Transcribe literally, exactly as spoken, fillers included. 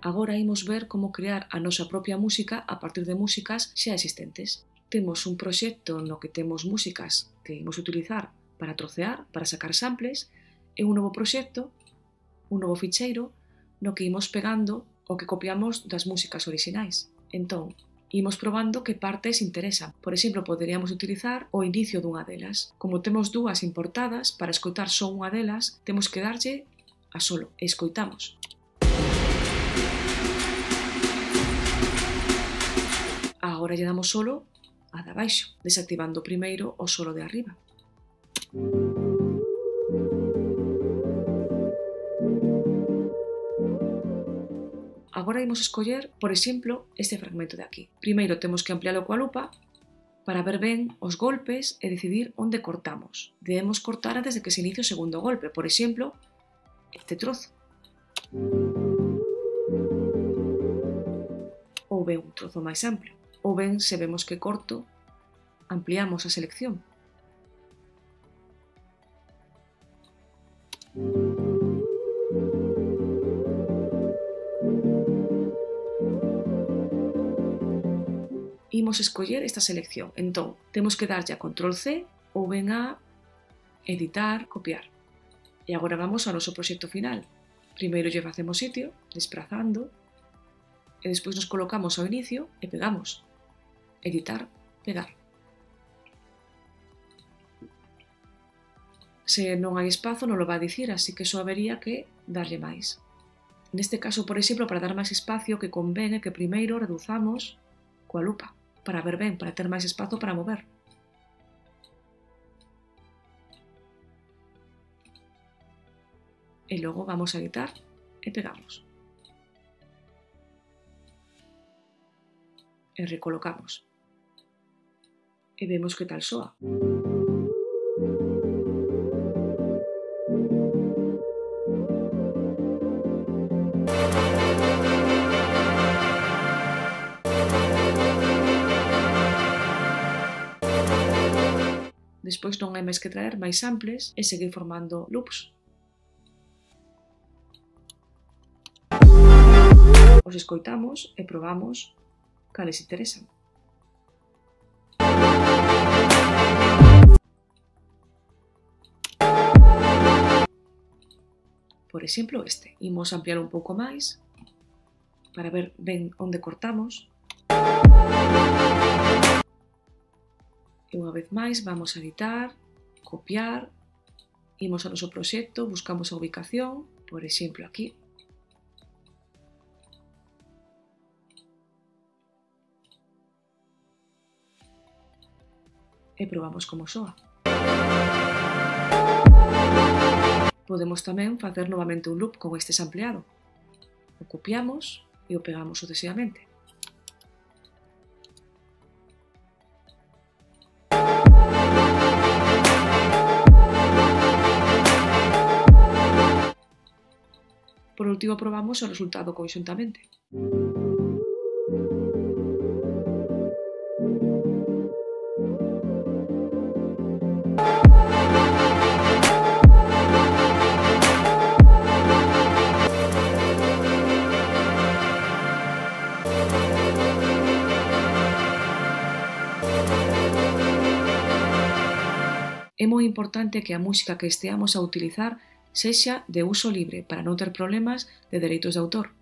Agora imos ver como crear a nosa propia música a partir de músicas xa existentes. Temos un proxecto no que temos músicas que imos utilizar para trocear, para sacar samples, e un novo proxecto, un novo ficheiro, no que imos pegando o que copiamos das músicas orixinais. Entón, imos probando que partes interesan. Por exemplo, poderíamos utilizar o inicio dunha delas. Como temos dúas importadas, para escoitar só unha delas, temos que darlle a solo e escoitamos. Agora lle damos solo a de abaixo, desactivando primeiro o solo de arriba. Agora imos escoller, por exemplo, este fragmento de aquí. Primeiro temos que ampliálo coa lupa para ver ben os golpes e decidir onde cortamos. Debemos cortar antes de que se inicie o segundo golpe, por exemplo, este trozo. Ou ben un trozo máis amplio. Ou ben, se vemos que corto, ampliamos a selección. Imos escoller esta selección. Entón, temos que darlle a control ce ou ben a editar, copiar. E agora vamos ao noso proxecto final. Primeiro lle facemos sitio, desprazando, e despois nos colocamos ao inicio e pegamos. Editar, pegar. Se non hai espazo non lo vai dicir, así que só habería que darlle máis. Neste caso, por exemplo, para dar máis espacio, que convén é que primeiro reduzamos coa lupa, para ver ben, para ter máis espazo para mover. E logo vamos a editar e pegamos. E recolocamos. E vemos que tal soa. Despois non hai máis que traer máis samples e seguir formando loops. Os escoitamos e probamos cales interesan. Por exemplo, este. Imos ampliar un pouco máis para ver ben onde cortamos. E unha vez máis vamos a editar, copiar, imos ao noso proxecto, buscamos a ubicación, por exemplo aquí. E probamos como soa. Podemos tamén facer novamente un loop con este sampleado. O copiamos e o pegamos sucesivamente. Por último, probamos o resultado conxuntamente. É moi importante que a música que esteamos a utilizar sexa de uso libre para non ter problemas de dereitos de autor.